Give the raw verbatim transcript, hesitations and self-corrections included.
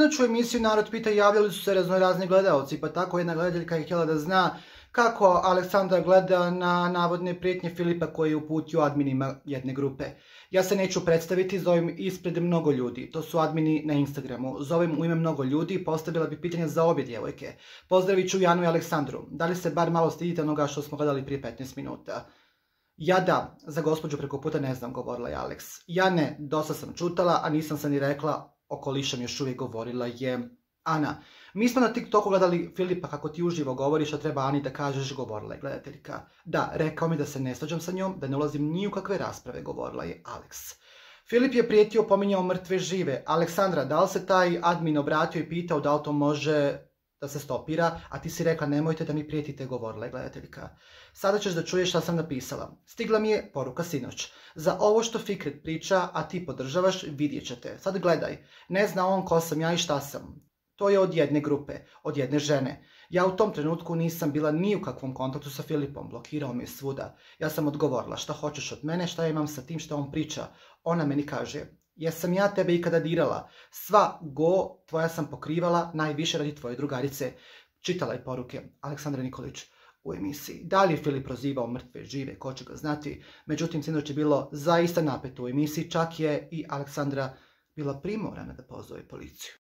Sinoć u emisiju Narod pita javljali su se raznorazni gledaoci, pa tako jedna gledateljka je htjela da zna kako Aleksandra gleda na navodne prijetnje Filipa koji je uputio adminima jedne grupe. Ja se neću predstaviti, zovem ispred mnogo ljudi, to su admini na Instagramu. Zovem u ime mnogo ljudi i postavila bi pitanje za obje djevojke. Pozdravit ću Janu i Aleksandru. Da li se bar malo stidite onoga što smo gledali prije petnaest minuta? Ja da, za gospođu preko puta ne znam, govorila je Aleks. Ja ne, dosta sam čutala, a nisam se ni rekla, okolišem još uvijek, govorila je Ana. Mi smo na TikToku gledali Filipa kako ti uživo govoriš, a treba Ani da kažeš, govorila je gledateljka. Da, rekao mi da se ne svađam sa njom, da ne ulazim ni u kakve rasprave, govorila je Aleks. Filip je prijetio, pominjao mrtve žive. Aleksandra, da li se taj admin obratio i pitao da li to može da se stopira, a ti si rekla nemojte da mi prijetite, govorila je gledateljka. Sada ćeš da čuješ šta sam napisala. Stigla mi je poruka sinoć. Za ovo što Fikret priča, a ti podržavaš, vidjet ćete. Sad gledaj. Ne zna on ko sam ja i šta sam. To je od jedne grupe, od jedne žene. Ja u tom trenutku nisam bila ni u kakvom kontaktu sa Filipom, blokirao me svuda. Ja sam odgovorila šta hoćeš od mene, šta imam sa tim što on priča. Ona meni kaže, jesam ja tebe ikada dirala? Sva go tvoja sam pokrivala, najviše radi tvoje drugarice. Čitala je poruke Aleksandra Nikolić u emisiji. Da li je Filip prozivao mrtve žive, ko će ga znati? Međutim, sinoć je bilo zaista napeto u emisiji, čak je i Aleksandra bila primorana da pozove policiju.